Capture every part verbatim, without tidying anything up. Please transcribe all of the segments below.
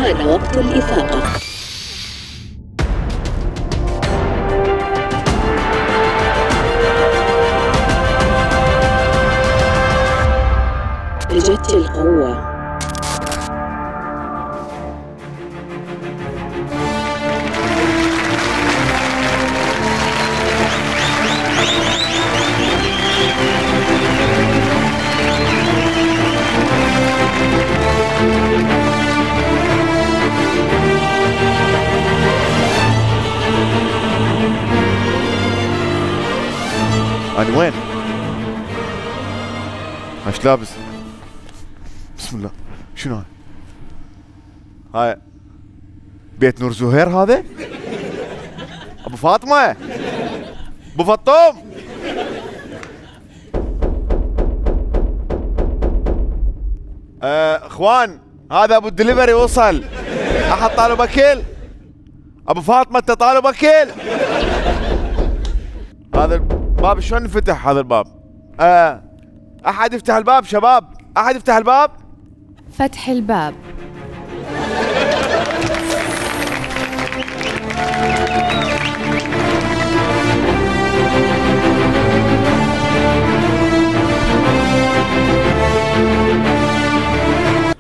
حان وقت الإفاقة. اجت القوة. أنا وين؟ ايش لابس؟ بسم الله، شنو هاي؟ هاي بيت نور زهير هذا؟ ابو فاطمة؟ ابو فطوم؟ آه، اخوان هذا ابو الدليفري وصل. احد طالب اكل؟ ابو فاطمة انت طالب اكل؟ هذا الباب شلون انفتح هذا الباب؟ آه احد يفتح الباب شباب، احد يفتح الباب. فتح الباب.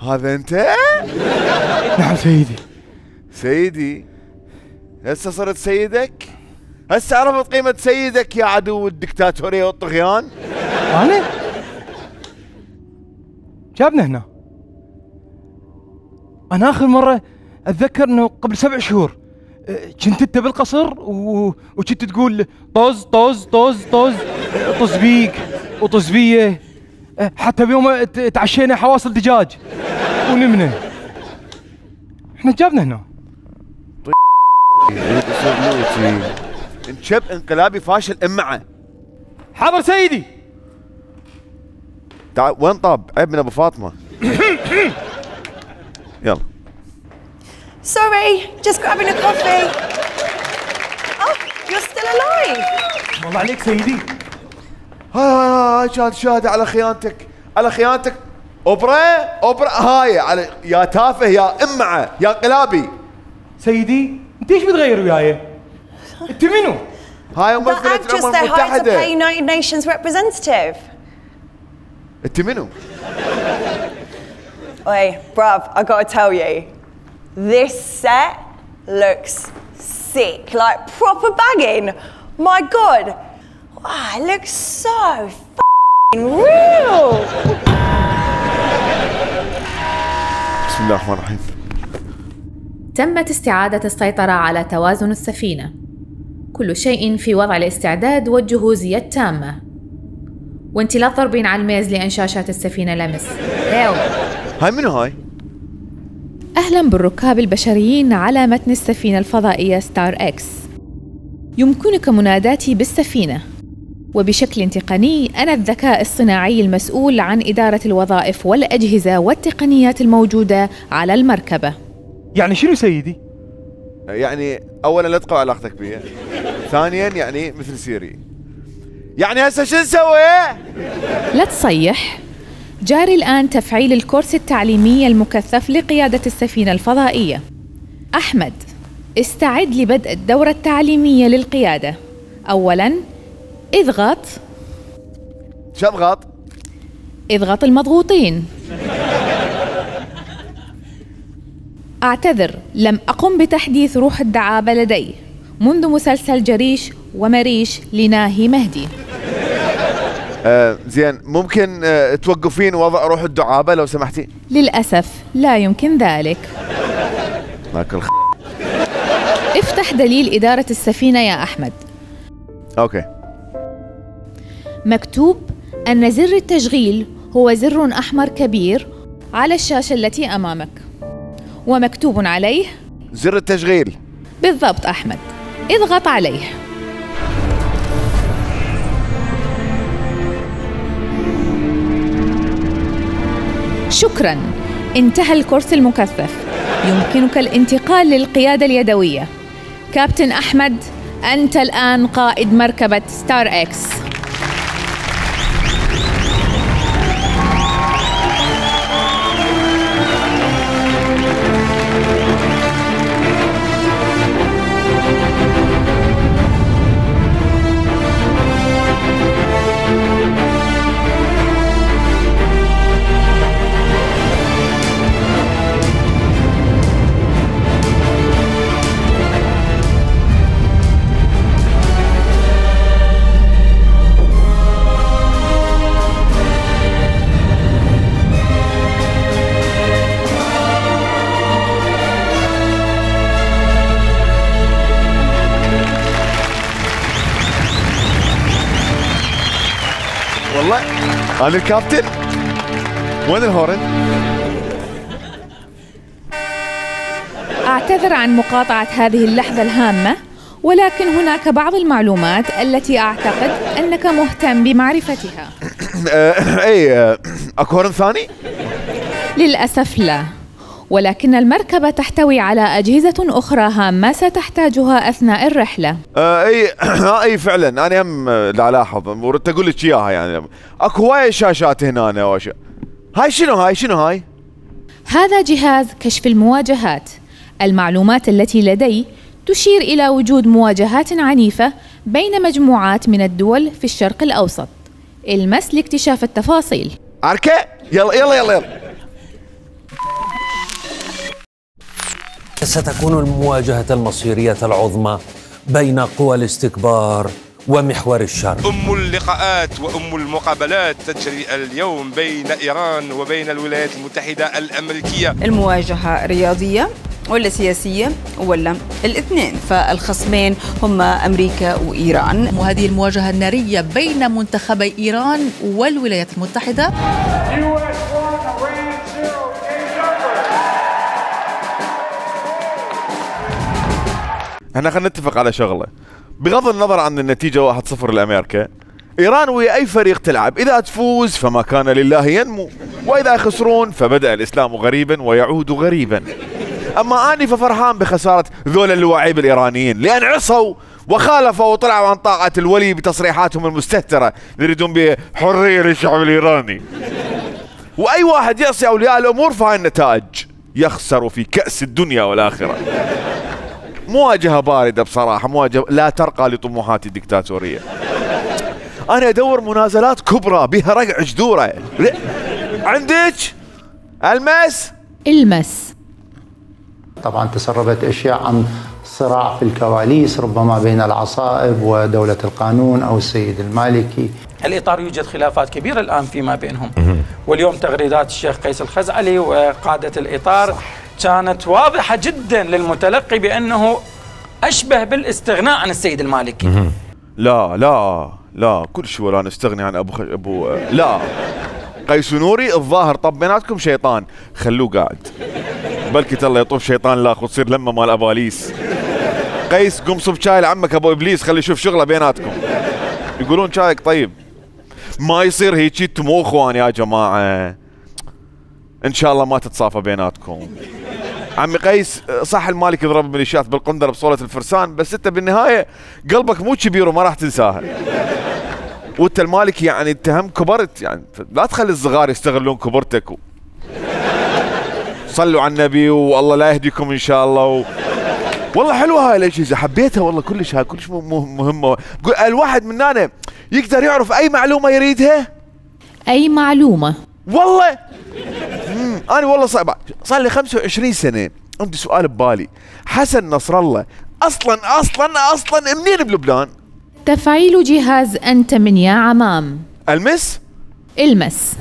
هذا انت؟ نعم سيدي. سيدي هسه صرت سيدك؟ هسه عرفت قيمة سيدك يا عدو الدكتاتورية والطغيان؟ أنا؟ جابنا هنا. أنا آخر مرة أتذكر إنه قبل سبع شهور كنت أنت بالقصر و... وكنت تقول طز طز طز طز طز بيك وطز بيه، حتى بيوم تعشينا حواصل دجاج ونمنا. احنا جابنا هنا. انشب انقلابي فاشل امعه. حاضر سيدي. تعال وين طاب؟ عيب من ابو فاطمه. يلا. Sorry, just grabbing a coffee. Oh, you're still alive. والله عليك سيدي. هاي هاي هاي شاهد شاهد على خيانتك، على خيانتك. اوبرا اوبرا هاي على يا تافه يا امعه يا انقلابي. سيدي انت ايش بتغير وياي؟ انت منو؟ هاي The ممثلة actress الامم they hired to play المتحدة. United Nations representative. انت منو؟ Oi, bruv, I gotta tell you, this set looks sick, like proper banging. My God, wow, it looks so f***ing real. بسم الله الرحمن الرحيم. تمت استعادة السيطرة على توازن السفينة. كل شيء في وضع الاستعداد والجهوزية التامة. وانت لا تضربين على الميز لأن شاشات السفينة لمس. ايو. هاي منو هاي؟ أهلا بالركاب البشريين على متن السفينة الفضائية ستار إكس. يمكنك مناداتي بالسفينة، وبشكل تقني أنا الذكاء الصناعي المسؤول عن إدارة الوظائف والأجهزة والتقنيات الموجودة على المركبة. يعني شنو سيدي؟ يعني اولا لا تقوى علاقتك بي، ثانيا يعني مثل سيري. يعني هسه شو نسوي؟ لا تصيح. جاري الآن تفعيل الكورس التعليمي المكثف لقيادة السفينة الفضائية. أحمد، استعد لبدء الدورة التعليمية للقيادة. أولاً اضغط. شو اضغط؟ اضغط المضغوطين. أعتذر، لم أقم بتحديث روح الدعابة لدي منذ مسلسل جريش ومريش لناهي مهدي. آه زين، ممكن آه توقفين وضع روح الدعابة لو سمحتي؟ للأسف لا يمكن ذلك. ماكل خ... افتح دليل إدارة السفينة يا أحمد. اوكي. مكتوب أن زر التشغيل هو زر أحمر كبير على الشاشة التي أمامك، ومكتوب عليه زر التشغيل. بالضبط أحمد، اضغط عليه. شكراً، انتهى الكورس المكثف. يمكنك الانتقال للقيادة اليدوية. كابتن أحمد، أنت الآن قائد مركبة ستار إكس. يلا انا الكابتن. وين الهورن؟ أعتذر عن مقاطعة هذه اللحظة الهامة، ولكن هناك بعض المعلومات التي أعتقد أنك مهتم بمعرفتها. اي اكو هورن ثاني؟ للأسف لا، ولكن المركبة تحتوي على أجهزة أخرى هامة ستحتاجها أثناء الرحلة. آه اي اي فعلا انا هم لا الاحظ وردت اقول لك اياها. يعني اكو هواي شاشات هنا أنا وش... هاي شنو هاي شنو هاي؟ هذا جهاز كشف المواجهات. المعلومات التي لدي تشير إلى وجود مواجهات عنيفة بين مجموعات من الدول في الشرق الأوسط. المس لاكتشاف التفاصيل. عركة يلا يلا يلا يلا. ستكون المواجهة المصيرية العظمى بين قوى الاستكبار ومحور الشر. أم اللقاءات وأم المقابلات تجري اليوم بين إيران وبين الولايات المتحدة الأمريكية. المواجهة رياضية ولا سياسية ولا الاثنين؟ فالخصمين هم أمريكا وإيران، وهذه المواجهة النارية بين منتخبي إيران والولايات المتحدة. احنا خلينا نتفق على شغله، بغض النظر عن النتيجه واحد صفر لامريكا، ايران ويا اي فريق تلعب اذا تفوز فما كان لله ينمو، واذا يخسرون فبدا الاسلام غريبا ويعود غريبا. اما اني ففرحان بخساره ذول اللواعيب الايرانيين، لان عصوا وخالفوا وطلعوا عن طاعه الولي بتصريحاتهم المستهتره يريدون بحريه للشعب الايراني. واي واحد يعصي اولياء الامور فهاي النتائج، يخسر في كاس الدنيا والاخره. مواجهة باردة بصراحة، مواجهة لا ترقى لطموحات الدكتاتورية. أنا أدور منازلات كبرى بها رقع جذورة. عندك المس؟ المس طبعا تسربت أشياء عن صراع في الكواليس ربما بين العصائب ودولة القانون أو السيد المالكي. الإطار يوجد خلافات كبيرة الآن فيما بينهم، واليوم تغريدات الشيخ قيس الخزعلي وقادة الإطار كانت واضحة جدا للمتلقي بأنه أشبه بالاستغناء عن السيد المالكي. لا لا لا كل شيء ولا نستغني عن أبو خ... أبو لا قيس نوري الظاهر طب بيناتكم شيطان، خلوه قاعد بلكي الله يطوف شيطان لاخ وتصير لما مال أباليس. قيس قم صب شاي لعمك أبو إبليس خلي يشوف شغله بيناتكم. يقولون شايك طيب، ما يصير هيجي تمو اخوان يا جماعة، ان شاء الله ما تتصافى بيناتكم. عمي قيس صح المالك يضرب الميليشيات بالقندر بصولة الفرسان، بس انت بالنهاية قلبك مو كبير وما راح تنساها. وانت المالك يعني انت هم كبرت، يعني لا تخلي الصغار يستغلون كبرتك و... صلوا على النبي والله لا يهديكم ان شاء الله و... والله حلوة هاي الاجهزة، حبيتها والله كلش، هاي كلش مهمة. الواحد مننا يقدر يعرف اي معلومة يريدها، اي معلومة والله. امم انا والله صعب صار لي خمسة وعشرين سنة عندي سؤال ببالي، حسن نصر الله اصلا اصلا اصلا منين بلبنان؟ تفعيل جهاز انت من يا عمام. المس؟ المس.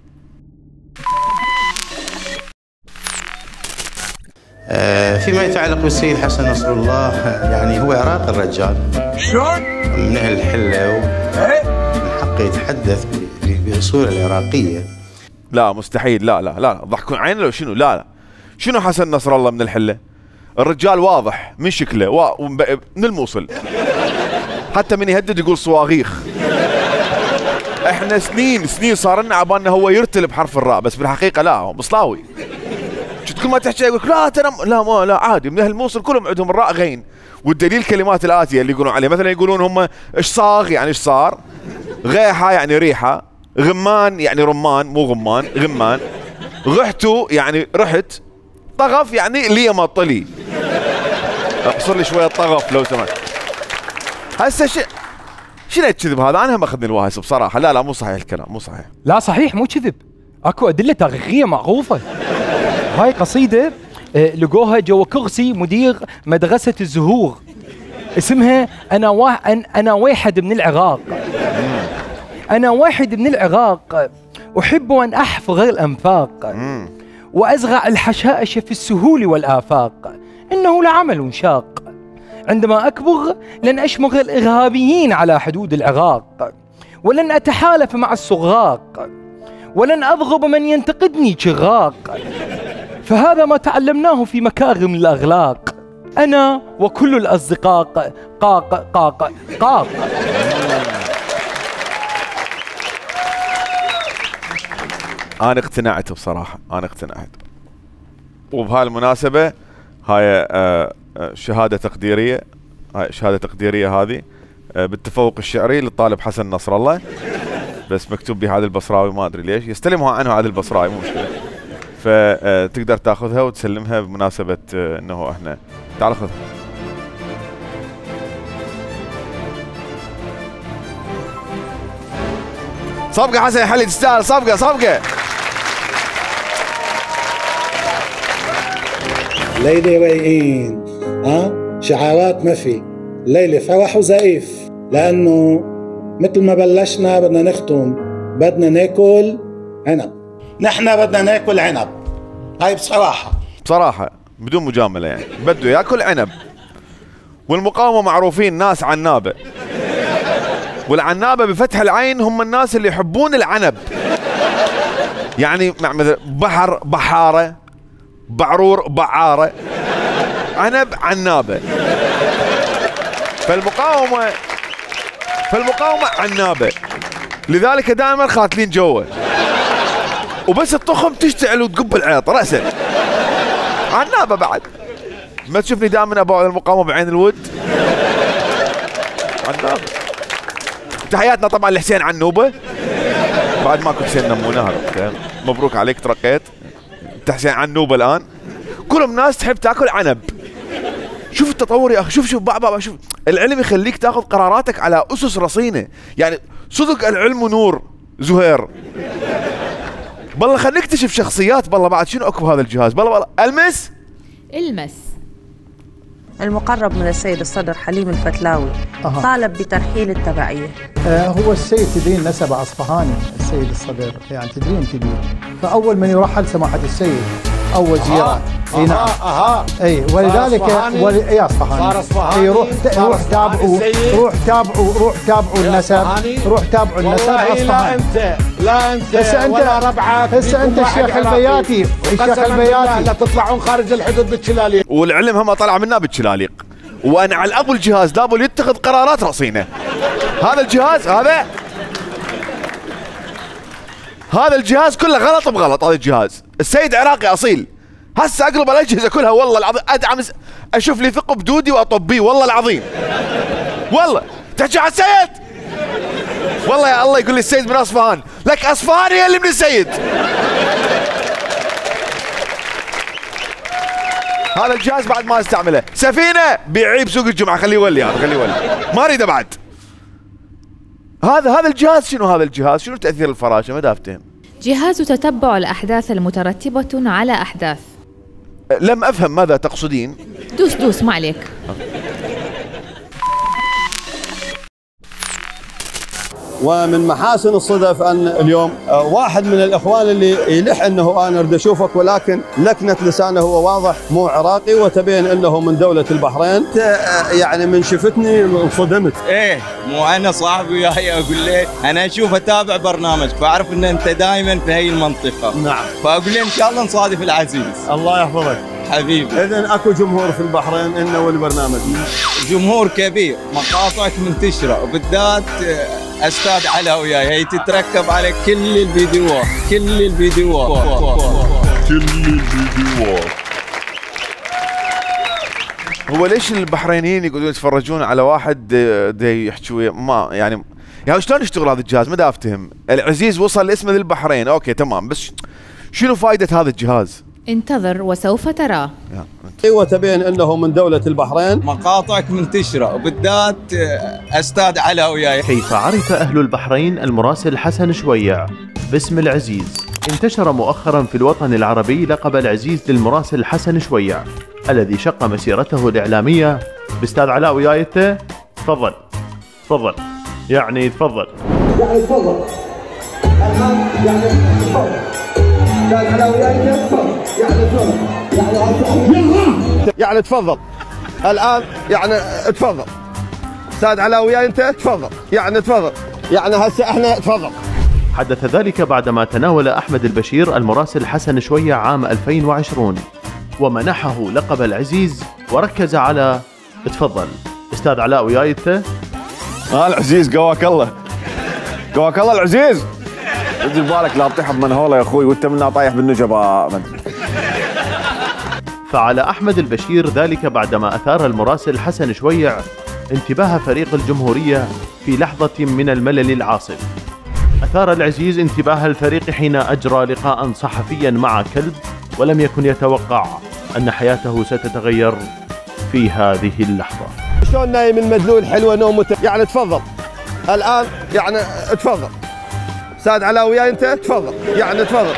فيما يتعلق بالسيد حسن نصر الله، يعني هو عراقي الرجال، شلون؟ من أهل الحلة ومن حقه يتحدث بأصوله العراقية. لا مستحيل، لا لا لا ضحكون عينه لو شنو، لا لا شنو حسن نصر الله من الحلة؟ الرجال واضح من شكله و... من الموصل، حتى من يهدد يقول صواغيخ. احنا سنين سنين صار لنا عبالنا هو يرتل بحرف الراء، بس بالحقيقة لا هو مصلاوي. كل ما تحكي يقول لا ترى لا ما لا عادي، من اهل الموصل كلهم عندهم الراء غين، والدليل الكلمات الآتية اللي يقولون عليه، مثلا يقولون هم ايش صاغ يعني ايش صار، غيحة يعني ريحة، غمان يعني رمان مو غمان غمان، غحتو يعني رحت، طغف يعني لي ما طلي. اقصر لي شوية طغف لو سمحت. هسه ش... شنو الكذب هذا؟ انا هم اخذني الواهس بصراحة. لا لا مو صحيح الكلام، مو صحيح. لا صحيح مو كذب، اكو أدلة تاريخية معروفة. هاي قصيدة لقوها جوا كرسي مدير مدرسة الزهور، اسمها أنا وا... أنا واحد من العراق. أنا واحد من العراق أحب أن أحفر الأنفاق وأزرع الحشائش في السهول والآفاق، إنه لعمل شاق. عندما أكبر لن أشمر الإرهابيين على حدود العراق، ولن أتحالف مع الصغاق، ولن أضغب من ينتقدني شغاق، فهذا ما تعلمناه في مكارم الأخلاق، أنا وكل الأصدقاء قاق قاق قاق. أنا اقتنعت بصراحة، أنا اقتنعت. وبهالمناسبة هاي شهادة تقديرية، هاي شهادة تقديرية هذه بالتفوق الشعري للطالب حسن نصر الله، بس مكتوب بهذا البصراوي ما أدري ليش، يستلمها عنه هذا البصراوي مو مشكلة، فتقدر تاخذها وتسلمها بمناسبة انه احنا تعال خذ. صفقة حسن يا حلي، تستاهل صفقة صفقة. ليلة رايقين، ها شعارات ما في، ليلة فرح وزقيف، لأنه مثل ما بلشنا بدنا نختم، بدنا ناكل عنب. نحن بدنا ناكل عنب، هاي بصراحة بصراحة بدون مجاملة يعني، بده ياكل عنب. والمقاومة معروفين ناس عنابة، والعنابة بفتح العين هم الناس اللي يحبون العنب، يعني مثل بحر بحارة، بعرور بعارة، عنب عنابة. فالمقاومة فالمقاومة عنابة، لذلك دائما خاتلين جوا، وبس الطخم تشتعل وتقب العيط رأسا. عنابة بعد، ما تشوفني دائما ابوع المقاومة بعين الود. عنابة. تحياتنا طبعا لحسين عنوبة، بعد ماكو حسين نمونة، هذا مبروك عليك ترقيت، انت حسين عنوبة الان. كلهم ناس تحب تاكل عنب. شوف التطور يا اخي، شوف شوف بابا، شوف العلم يخليك تاخذ قراراتك على اسس رصينه، يعني صدق العلم نور زهير. بالله خلينا نكتشف شخصيات، بالله بعد شنو اكو بهذا الجهاز، بالله بالله المس المس. المقرب من السيد الصدر حليم الفتلاوي أه. طالب بترحيل التبعية. آه هو السيد تدرين نسب أصفهاني، السيد الصدر يعني تدرين تدرين، فأول من يرحل سماحة السيد أول زيارة. اي نعم اها اي ولذلك ولي اي اصفهاني اي روح روح تابعوا روح تابعوا روح تابعوا النسب، روح تابعوا النسب اصفهاني. لا انت لا انت هسه انت ولا ربعك، هسه انت الشيخ البياتي، الشيخ البياتي لا تطلعون خارج الحدود بالشلاليق، والعلم هم طلع منا بالشلاليق. وانا على ابو الجهاز لابد يتخذ قرارات رصينه. هذا الجهاز هذا هذا الجهاز كله غلط بغلط. هذا الجهاز السيد عراقي اصيل، هسه اقلب الاجهزه كلها والله العظيم، ادعم اشوف لي ثقب دودي واطبيه والله العظيم. والله تحكي على السيد، والله يا الله يقول لي السيد من اصفهان، لك اصفهان هي اللي من السيد. هذا الجهاز بعد ما استعمله، سفينه بيعيه بسوق الجمعه، خليه يولي هذا خليه يولي، ما اريده بعد. هذا هذا الجهاز شنو؟ هذا الجهاز شنو تاثير الفراشه؟ ما دافتهم. جهاز تتبع الأحداث المترتبة على أحداث. لم أفهم ماذا تقصدين. دوس دوس ما عليك. ومن محاسن الصدف أن اليوم واحد من الإخوان اللي يلح أنه أنا أريد أشوفك، ولكن لكنة لسانه هو واضح مو عراقي، وتبين أنه من دولة البحرين. يعني من شفتني انصدمت. إيه مو أنا صاحبي وياي أقول له أنا أشوف أتابع برنامج، فأعرف أن أنت دائما في هي المنطقة. نعم. فأقول له إن شاء الله نصادف العزيز. الله يحفظك حبيبي. إذن أكو جمهور في البحرين إنه والبرنامج. جمهور كبير، مقاطعك منتشرة، وبالذات أستاذ علاء وياي هي تتركب على كل الفيديوهات كل الفيديوهات كل الفيديوهات. هو ليش البحرينيين يقعدون يتفرجون على واحد دي يحكوا ما يعني يعني شلون يشتغل هذا الجهاز؟ ما دا افتهم. العزيز وصل لاسمه للبحرين، اوكي تمام، بس شنو فائدة هذا الجهاز؟ انتظر وسوف تراه. وتبين انه من دولة البحرين. مقاطعك منتشرة، وبالذات استاذ علاء وياي. كيف عرف اهل البحرين المراسل حسن شويع باسم العزيز؟ انتشر مؤخرا في الوطن العربي لقب العزيز للمراسل حسن شويع الذي شق مسيرته الإعلامية باستاذ علاء وياي. انت تفضل تفضل يعني تفضل يعني تفضل يعني تفضل يعني تفضل يعني تفضل الآن يعني تفضل استاذ علاء وياي. انت تفضل يعني تفضل يعني هسه احنا تفضل. حدث ذلك بعدما تناول أحمد البشير المراسل حسن شويع عام ألفين وعشرين ومنحه لقب العزيز وركز على تفضل استاذ علاء وياي انت؟ اه العزيز قواك الله قواك الله العزيز. ادري بالك لا تطيح بمنهوله يا اخوي وانت منا طايح بالنجبه. فعل أحمد البشير ذلك بعدما أثار المراسل حسن شويع انتباه فريق الجمهورية في لحظة من الملل العاصف. أثار العزيز انتباه الفريق حين أجرى لقاء صحفيا مع كلب ولم يكن يتوقع أن حياته ستتغير في هذه اللحظة. شلون نايم المدلول حلوة نومته يعني تفضل الآن يعني تفضل استاذ علاء وياي انت تفضل يعني تفضل.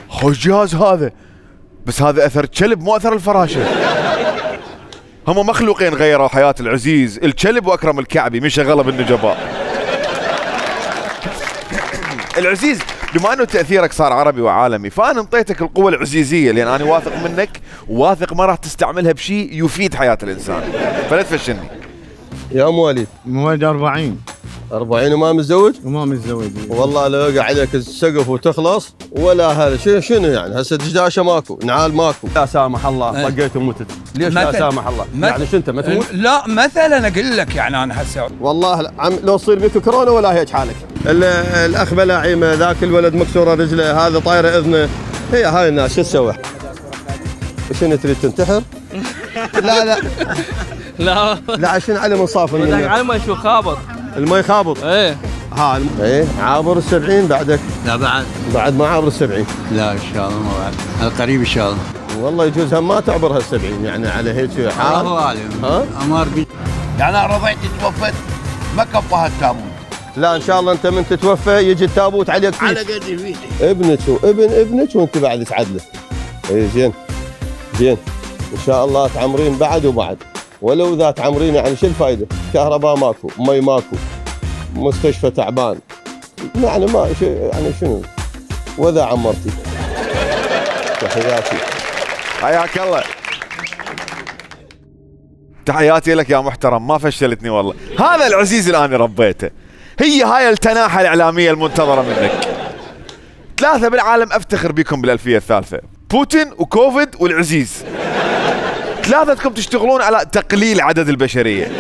خوش جهاز هذا بس هذا اثر كلب مو اثر الفراشه. هم مخلوقين غيروا حياه العزيز الكلب واكرم الكعبي من شغله بالنجباء. العزيز بما انه تاثيرك صار عربي وعالمي فانا انطيتك القوه العزيزيه لان انا واثق منك وواثق ما راح تستعملها بشيء يفيد حياه الانسان فلا تفشلني. يا ام وليد مواليد أربعين أربعين وما متزوج؟ وما متزوج. والله لو يقع عليك السقف وتخلص ولا هذا شنو شنو يعني هسه دشداشه ماكو نعال ماكو. لا سامح الله طقيت ومتت. ليش لا سامح الله؟ يعني شو انت ما تموت؟ لا مثلا اقول لك يعني انا هسه والله عم لو تصير بك كورونا ولا هيك حالك. الاخ بلاعيمه ذاك الولد مكسوره رجله هذا طايره اذنه هي هاي الناس شو تسوي؟ شنو تريد تنتحر؟ لا لا لا لا عشان علي منصاف علي شو خابط المي خابط. ايه ها الم... ايه عابر السبعين بعدك؟ لا بعد بعد ما عابر السبعين؟ لا ان شاء الله ما بعد القريب ان شاء الله. والله يجوز هم ما تعبر هالسبعين يعني على هيك حال. الله اعلم. ها؟ امار بي يعني انا رضيت توفت ما كفاها التابوت. لا ان شاء الله انت من تتوفى يجي التابوت عليك فيه. على قد فيتي. ابنك وابن ابنك وانت بعد تعدله. اي زين زين ان شاء الله تعمرين بعد وبعد. ولو اذا تعمرين يعني شو الفائده؟ كهرباء ماكو، مي ماكو، مستشفى تعبان. يعني ما يعني شنو؟ واذا عمرتي. تحياتي. حياك الله. تحياتي لك يا محترم ما فشلتني والله. هذا العزيز اللي انا ربيته. هي هاي التناحة الإعلامية المنتظرة منك. ثلاثة بالعالم افتخر بكم بالألفية الثالثة. بوتين وكوفيد والعزيز. ثلاثتكم تشتغلون على تقليل عدد البشرية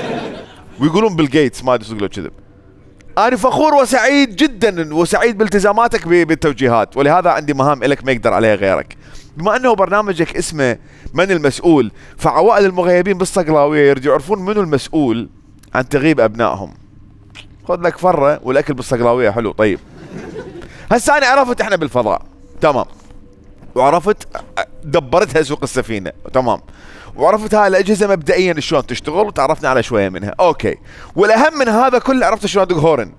ويقولون بيل جيتس ما ادري يقولوا كذب. انا فخور وسعيد جدا وسعيد بالتزاماتك بالتوجيهات ولهذا عندي مهام لك ما يقدر عليها غيرك. بما انه برنامجك اسمه من المسؤول فعوائل المغيبين بالصقلاوية يرجعوا يعرفون منو المسؤول عن تغيب ابنائهم. خذ لك فرة والاكل بالصقلاوية حلو. طيب هسه انا عرفت احنا بالفضاء تمام وعرفت دبرتها سوق السفينة تمام وعرفت هاي الأجهزة مبدئيا شلون تشتغل وتعرفنا على شوية منها اوكي والأهم من هذا كله عرفت شلون ادق هورن.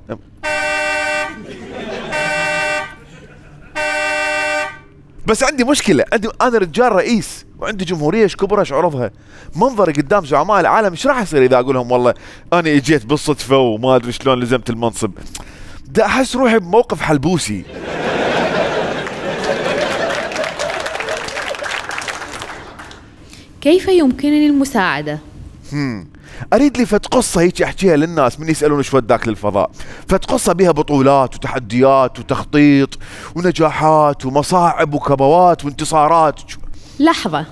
بس عندي مشكلة عندي انا رجال رئيس وعندي جمهورية ايش كبرها ايش عرضها منظري قدام زعماء العالم ايش راح يصير اذا اقول لهم والله انا اجيت بالصدفة وما ادري شلون لزمت المنصب. دا احس روحي بموقف حلبوسي. كيف يمكنني المساعدة؟ هم. اريد لي فت قصه هيك احكيها للناس من يسالون ايش وداك للفضاء، فت قصه بها بطولات وتحديات وتخطيط ونجاحات ومصاعب وكبوات وانتصارات. لحظة،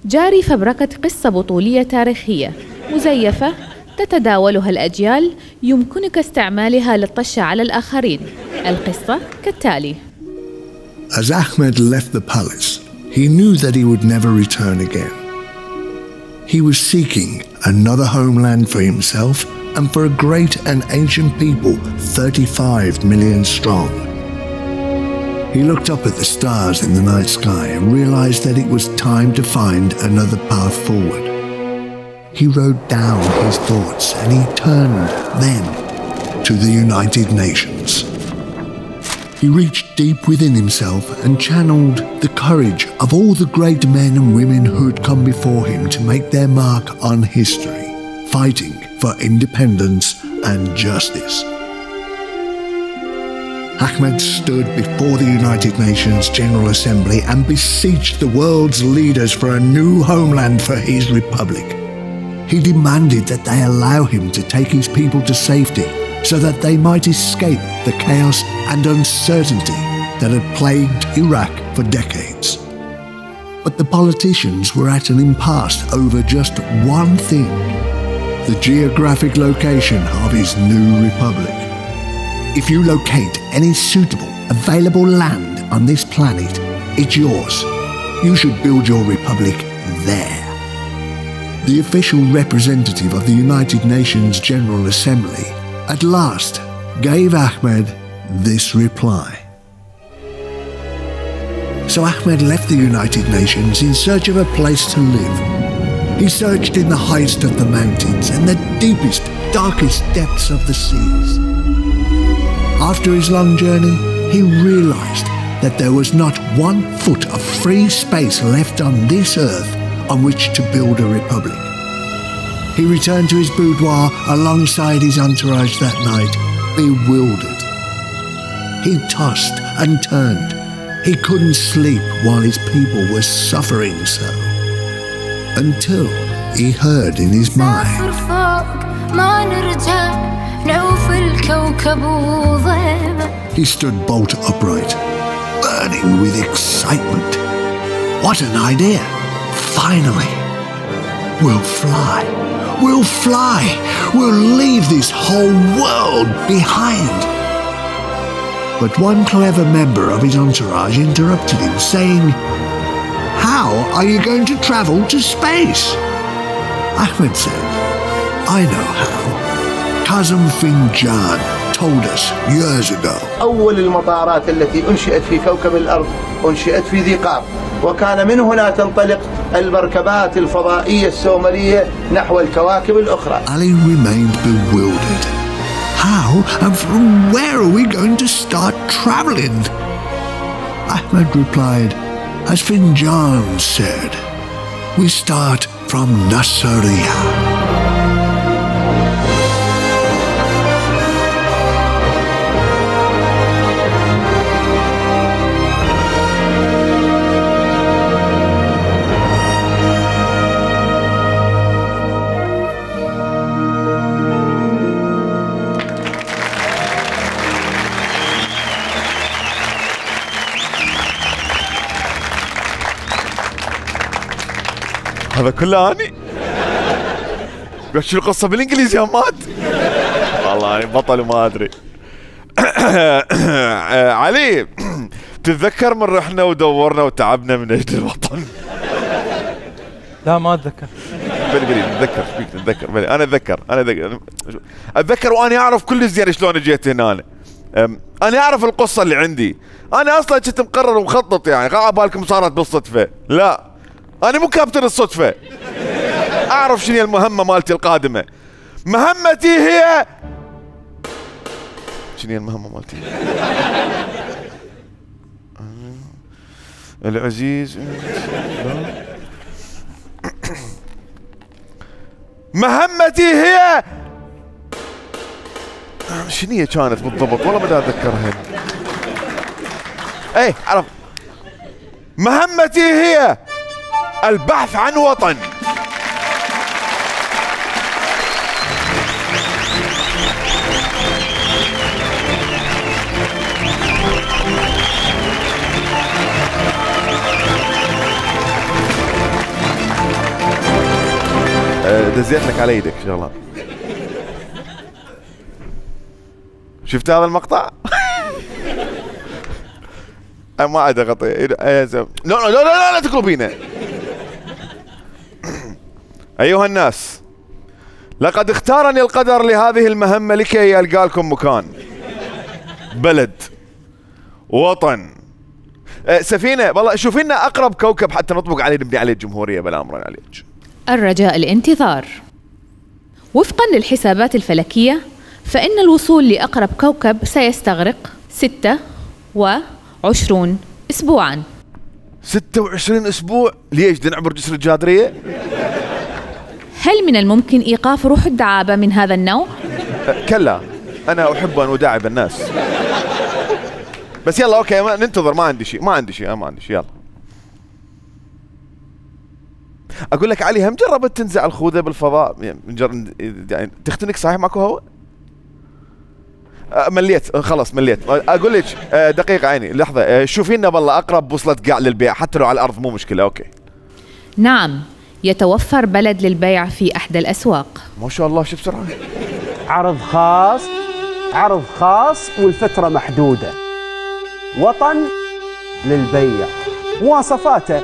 جاري فبركة قصة بطولية تاريخية مزيفة تتداولها الأجيال يمكنك استعمالها للطش على الآخرين. القصة كالتالي. As Ahmed left the palace, he knew that he would never return again. He was seeking another homeland for himself and for a great and ancient people, thirty-five million strong. He looked up at the stars in the night sky and realized that it was time to find another path forward. He wrote down his thoughts and he turned then to the United Nations. He reached deep within himself and channeled the courage of all the great men and women who had come before him to make their mark on history, fighting for independence and justice. Ahmed stood before the United Nations General Assembly and beseeched the world's leaders for a new homeland for his republic. He demanded that they allow him to take his people to safety so that they might escape the chaos and uncertainty that had plagued Iraq for decades. But the politicians were at an impasse over just one thing: the geographic location of his new republic. If you locate any suitable, available land on this planet, it's yours. You should build your republic there. The official representative of the United Nations General Assembly at last gave Ahmed this reply. So Ahmed left the United Nations in search of a place to live. He searched in the highest of the mountains and the deepest, darkest depths of the seas. After his long journey, he realized that there was not one foot of free space left on this earth on which to build a republic. He returned to his boudoir alongside his entourage that night, bewildered. He tossed and turned. He couldn't sleep while his people were suffering so. Until he heard in his mind, he stood bolt upright, burning with excitement. What an idea! Finally! We'll fly! We'll fly! We'll leave this whole world behind! But one clever member of his entourage interrupted him, saying, "How are you going to travel to space?" Ahmed said, "I know how. Kazem Finjan told us years ago." أول المطارات التي أنشئت في كوكب الأرض أنشئت في ذي قار، وكان من هنا تنطلق المركبات الفضائية السومرية نحو الكواكب الأخرى. Ali remained bewildered. How and from where are we going to start traveling? Ahmed replied, as Finjan said, we start from Nasiriyah. هذا كله اني شو القصه بالانجليزي يا مات والله بطل وما ادري. علي تتذكر من رحنا ودورنا وتعبنا من اجل الوطن؟ لا ما اتذكر. بلي بلي اتذكر فيك تتذكر بلي انا اتذكر انا اتذكر اتذكر وانا اعرف كل زين شلون جيت هنا. أنا. انا اعرف القصه اللي عندي. انا اصلا كنت مقرر ومخطط يعني قاعد بالكم صارت بالصدفه. لا انا مو كابتن الصدفه. اعرف شنو المهمه مالتي القادمه. مهمتي هي شنو المهمه مالتي؟ العزيز مهمتي هي شنو هي كانت بالضبط؟ والله ما اتذكرها. اي عرف. مهمتي هي البحث عن وطن. دزيت لك على يدك شغله. شفت هذا المقطع؟ ما عاد اغطي. لا لا لا لا لا تقلبينه. ايها الناس، لقد اختارني القدر لهذه المهمة لكي ألقى لكم مكان، بلد، وطن، أه سفينة. والله شوفي لنا أقرب كوكب حتى نطبق عليه نبني عليه الجمهورية بلا أمرنا عليك. الرجاء الانتظار. وفقا للحسابات الفلكية فإن الوصول لأقرب كوكب سيستغرق ستة وعشرون أسبوعا. ستة وعشرين أسبوع؟ ليش؟ بدنا نعبر جسر الجادرية؟ هل من الممكن إيقاف روح الدعابة من هذا النوع؟ أه كلا، أنا أحب أن أداعب الناس. بس يلا اوكي ما ننتظر، ما عندي شيء ما عندي شيء ما عندي شيء يلا. اقول لك علي، هم جربت تنزع الخوذه بالفضاء يعني تختنق صحيح ماكو هواء؟ مليت خلاص مليت. اقول لك دقيقه عيني لحظه، شوفي لنا بالله اقرب بوصله قاع للبيع حتى لو على الارض مو مشكله. اوكي نعم، يتوفر بلد للبيع في احدى الاسواق. ما شاء الله شو بسرعه. عرض خاص، عرض خاص والفتره محدوده. وطن للبيع. مواصفاته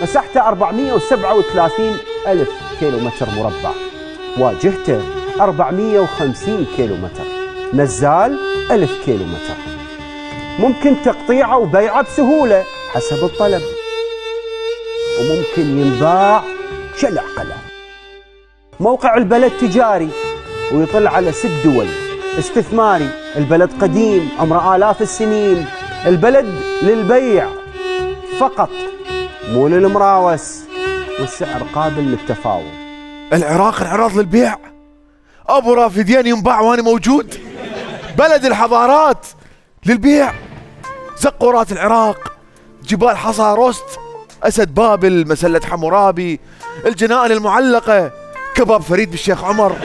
مساحته أربعمئة وسبعة وثلاثين ألف كيلو متر مربع، واجهته أربعمئة وخمسين كيلو متر، نزال ألف كيلو متر. ممكن تقطيعه وبيعه بسهولة حسب الطلب، وممكن ينباع شلع قلم. موقع البلد تجاري ويطل على ست دول. استثماري، البلد قديم عمره آلاف السنين. البلد للبيع فقط مو للمراوس، والسعر قابل للتفاوض. العراق العراض للبيع، ابو رافدين ينباع وانا موجود. بلد الحضارات للبيع، زقورات العراق، جبال حصاروست، اسد بابل، مسله حمورابي، الجنائن المعلقه، كباب فريد بالشيخ عمر،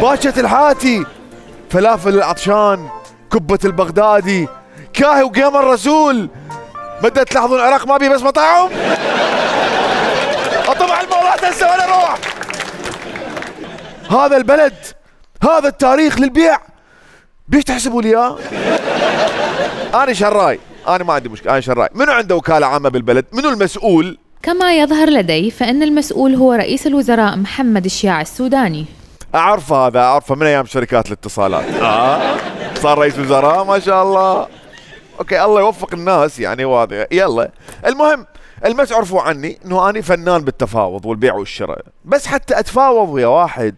باشة الحاتي، فلافل العطشان، كبة البغدادي، كاهي وقيم الرسول. بدأت تلاحظون العراق ما بي بس مطاعم. اطبع المولات هسه وانا اروح. هذا البلد، هذا التاريخ للبيع، بيش تحسبوا لي اياه؟ انا شراي، انا ما عندي مشكله، انا شراي. منو عنده وكاله عامه بالبلد؟ منو المسؤول؟ كما يظهر لدي فإن المسؤول هو رئيس الوزراء محمد الشياع السوداني. اعرف هذا، اعرفه من ايام شركات الاتصالات. اه صار رئيس وزراء ما شاء الله. اوكي الله يوفق الناس يعني واضح. يلا المهم المس عرفوا عني انه اني فنان بالتفاوض والبيع والشراء، بس حتى اتفاوض ويا واحد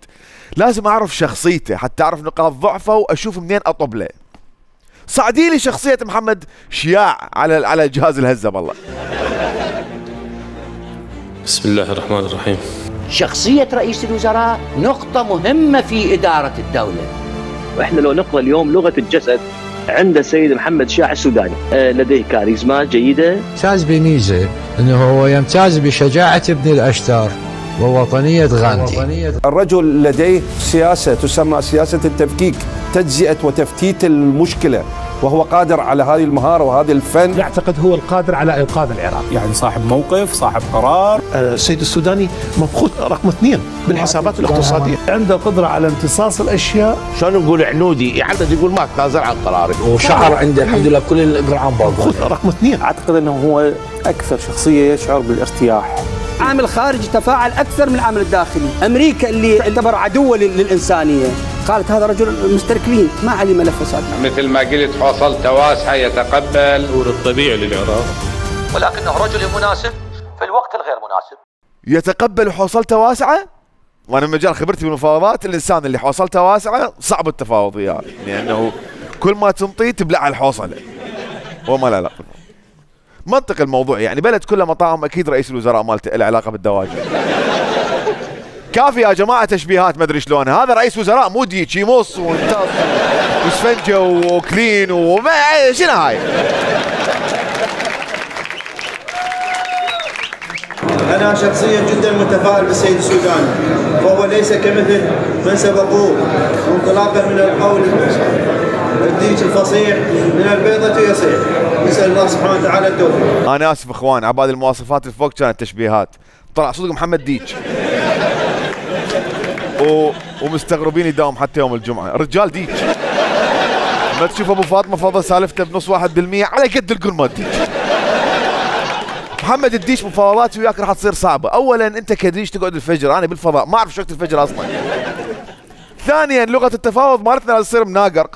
لازم اعرف شخصيته حتى اعرف نقاط ضعفه واشوف منين اطب له. صعدي لي شخصيه محمد شياع على على جهاز الهزه بالله. بسم الله الرحمن الرحيم. شخصية رئيس الوزراء نقطة مهمة في إدارة الدولة. وإحنا لو نقرأ اليوم لغة الجسد عند السيد محمد شياع السوداني، لديه كاريزما جيدة. يمتاز بميزة أنه هو يمتاز بشجاعة ابن الأشتار ووطنية غاندي. الرجل لديه سياسة تسمى سياسة التفكيك، تجزئة وتفتيت المشكلة، وهو قادر على هذه المهارة وهذا الفن. يعتقد هو القادر على إنقاذ العراق، يعني صاحب موقف، صاحب قرار. السيد السوداني مبخوت رقم اثنين بالحسابات الاقتصادية، عنده قدرة على امتصاص الأشياء. شلون نقول عنودي يعدد يقول ما تنازل عن قراري، وشعر عنده الحمد لله بكل الإجراءات مبخوت رقم اثنين. أعتقد أنه هو أكثر شخصية يشعر بالارتياح. عامل خارجي تفاعل أكثر من العامل الداخلي. أمريكا اللي تعتبر عدوة للإنسانية قالت هذا رجل مستركلين ما عليه ملف فساد. مثل ما قلت حوصلته واسعة، يتقبل الطبيعي للعراق، ولكنه رجل مناسب في الوقت الغير مناسب. يتقبل حوصلته واسعة؟ وأنا من مجال خبرتي بالمفاوضات الإنسان اللي حوصلته واسعة صعب التفاوض وياه، لأنه كل ما تنطيه تبلع الحوصلة. وما لا لا منطق الموضوع يعني بلد كله مطاعم، اكيد رئيس الوزراء مالته له علاقه بالدواجن. كافي يا جماعه تشبيهات ما ادري شلون، هذا رئيس وزراء مو ديك يمص وانتص واسفنجه وكلين وما شنو هاي. انا شخصيا جدا متفائل بالسيد السوداني، فهو ليس كمثل من سبقوه، انطلاقا من القول الديك الفصيح من البيضة يصيح. نسأل الله سبحانه وتعالى التوفيق. أنا آسف إخوان، عباد المواصفات اللي فوق كانت تشبيهات، طلع صدق محمد ديك. و... ومستغربين يداوم حتى يوم الجمعة، رجال ديك. ما تشوف أبو فاطمة فضل سالفته بنص واحد بالمية على قد القول مال ديك. محمد الديش مفاوضات وياك راح تصير صعبة، أولاً أنت كديش تقعد الفجر، أنا بالفضاء ما أعرف شو وقت الفجر أصلاً. ثانياً لغة التفاوض مالتنا لازم تصير مناقر.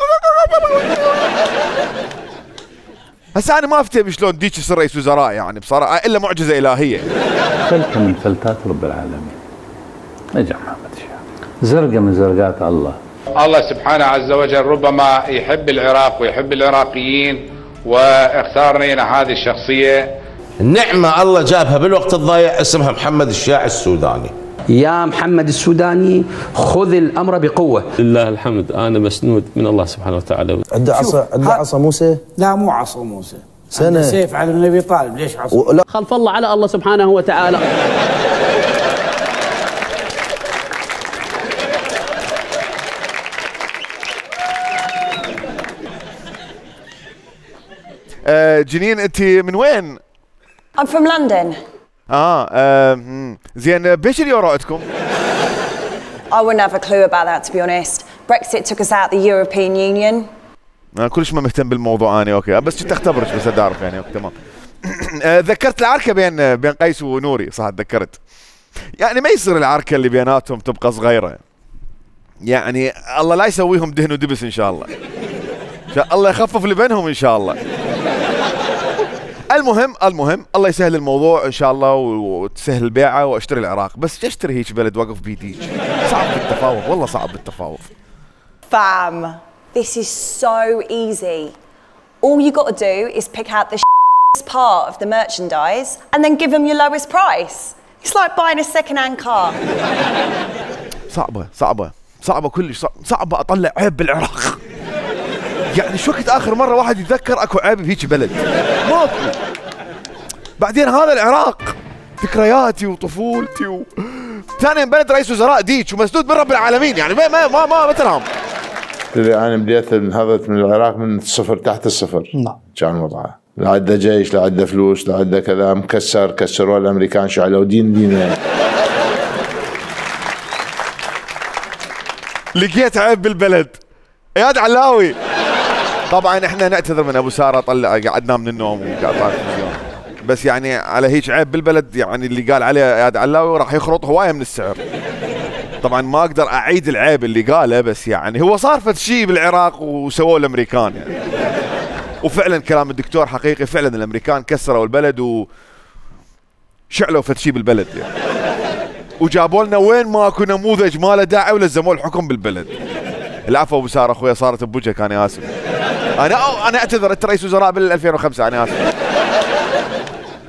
هسه انا ما افتهم شلون ديك يصير رئيس وزراء يعني بصراحه الا معجزه الهيه. فلتة من فلتات رب العالمين. نجح محمد شياع. زرقه من زرقات الله. الله سبحانه عز وجل ربما يحب العراق ويحب العراقيين واختار لنا هذه الشخصيه. النعمه الله جابها بالوقت الضايع اسمها محمد الشياع السوداني. يا محمد السوداني خذ الامر بقوه. لله الحمد، انا مسنود من الله سبحانه وتعالى. عنده عصا، عنده عصا موسى؟ لا مو عصا موسى، سنة سيف على ابن ابي طالب، ليش عصا؟ و... خلف الله على الله سبحانه وتعالى. آه جنين انت من وين؟ I'm from London. اه, آه زين بيش اليورو عندكم؟ I wouldn't have a clue about that to be honest. Brexit took us out the European Union. انا كلش ما مهتم بالموضوع انا اوكي بس كنت اختبرك بس اعرف يعني اوكي تمام. آه ذكرت العركه بين بين قيس ونوري صح تذكرت. يعني ما يصير العركه اللي بيناتهم تبقى صغيره. يعني الله لا يسويهم دهن ودبس ان شاء الله. ان شاء الله يخفف اللي بينهم ان شاء الله. المهم المهم الله يسهل الموضوع ان شاء الله وتسهل البيعه واشتري العراق بس اشتري هيك بلد واقف بيديك صعب بالتفاوض والله صعب بالتفاوض. Fam, this is so easy. All you got to do is pick out the part of the merchandise and then give them your lowest price. It's like buying a second-hand car. صعبه صعبه صعبه كلش صعبه اطلع عيب بالعراق. يعني شو وقت اخر مره واحد يتذكر اكو عيب بهيك بلد؟ ماكو. بعدين هذا العراق ذكرياتي وطفولتي و ثانيا بلد رئيس وزراء ديك ومسدود من رب العالمين يعني ما ما ما ما ترام. انا بديت انهضت من العراق من الصفر تحت الصفر. نعم. كان وضعه لا عنده جيش لا عنده فلوس لا عنده كذا مكسر كسروه الامريكان شعلوا دين دين. لقيت عيب بالبلد. اياد علاوي. طبعا احنا نعتذر من ابو ساره طلع قعدنا من النوم وقاطع التلفزيون بس يعني على هيك عيب بالبلد يعني اللي قال عليه اياد علاوي راح يخرط هوايه من السعر. طبعا ما اقدر اعيد العيب اللي قاله بس يعني هو صار فد شيء بالعراق وسووه الامريكان يعني. وفعلا كلام الدكتور حقيقي فعلا الامريكان كسروا البلد و شعلوا فد شيء بالبلد يعني. وجابوا لنا وين ماكو نموذج ما له داعي ولزموا الحكم بالبلد. العفو ابو ساره اخويا صارت بوجهك انا اسف. انا انا اعتذر انت رئيس وزراء بال ألفين وخمسة انا اسف.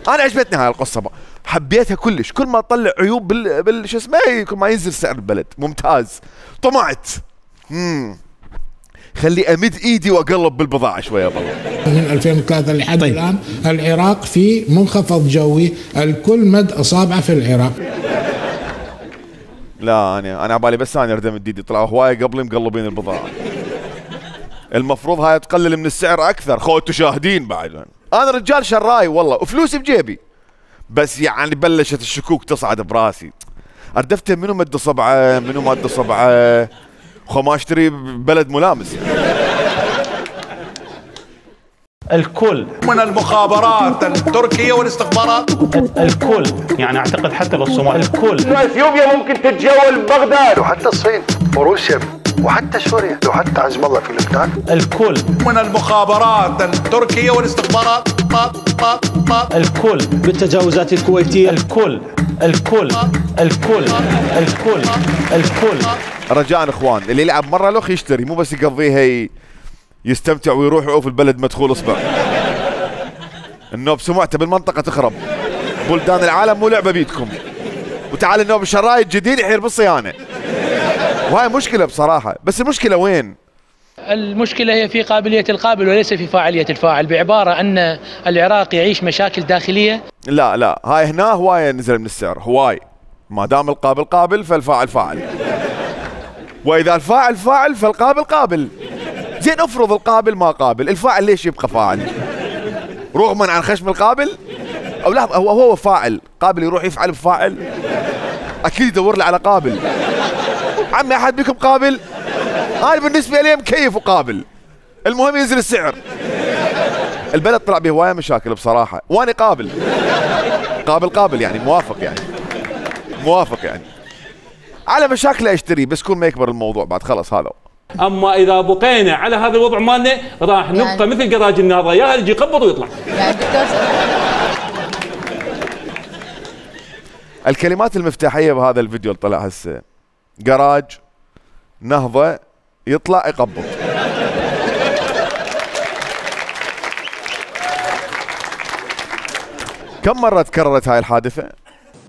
انا عجبتني هاي القصه بقى. حبيتها كلش كل ما تطلع عيوب بال, بال... شو اسمه كل ما ينزل سعر البلد ممتاز. طمعت. امم خلي امد ايدي واقلب بالبضاعه شويه بالله. من ألفين وثلاثة لحد طيب. الان العراق في منخفض جوي الكل مد اصابعه في العراق. لا انا انا عبالي بس انا اردم ايدي طلعوا هوايه قبلي مقلبين البضاعه. المفروض هاي تقلل من السعر اكثر خو تشاهدين بعد. انا رجال شراي والله وفلوسي بجيبي بس يعني بلشت الشكوك تصعد براسي. اردفت منو مد صبعه منو مد صبعه خو ما اشتري بلد ملامس يعني. الكل من المخابرات التركية والاستخبارات الكل يعني اعتقد حتى الصومال الكل. اثيوبيا ممكن تتجول بغداد وحتى الصين وروسيا وحتى سوريا وحتى عزم الله في لبنان. الكل من المخابرات التركية والاستخبارات الكل بالتجاوزات الكويتية الكل الكل الكل الكل الكل. رجاء اخوان اللي يلعب مره لوخ يشتري مو بس يقضيها يستمتع ويروح يعوف البلد مدخول اصبع. النوب سمعته بالمنطقه تخرب. بلدان العالم مو لعبه بيدكم. وتعال النوب الشراي الجديد يحير بالصيانه. وهاي مشكله بصراحه بس المشكله وين؟ المشكله هي في قابليه القابل وليس في فاعليه الفاعل بعباره ان العراق يعيش مشاكل داخليه. لا لا هاي هنا هوايه نزل من السعر هواي. ما دام القابل قابل فالفاعل فاعل. واذا الفاعل فاعل فالقابل قابل. زين افرض القابل ما قابل الفاعل ليش يبقى فاعل؟ رغما عن خشم القابل؟ او لا هو هو فاعل قابل يروح يفعل بفاعل؟ اكيد يدور له على قابل. عمي احد بكم قابل؟ انا بالنسبه لي مكيف وقابل. المهم ينزل السعر. البلد طلع به هوايه مشاكل بصراحه وانا قابل. قابل قابل يعني موافق يعني. موافق يعني. على مشاكله اشتري بس كل ما يكبر الموضوع بعد خلص هذا. اما اذا بقينا على هذا الوضع مالنا راح نبقى يعني مثل جراج النهضه يا يجي يقبض ويطلع. يعني الكلمات المفتاحيه بهذا الفيديو اللي طلع هسه جراج نهضه يطلع يقبض. كم مره تكررت هاي الحادثه؟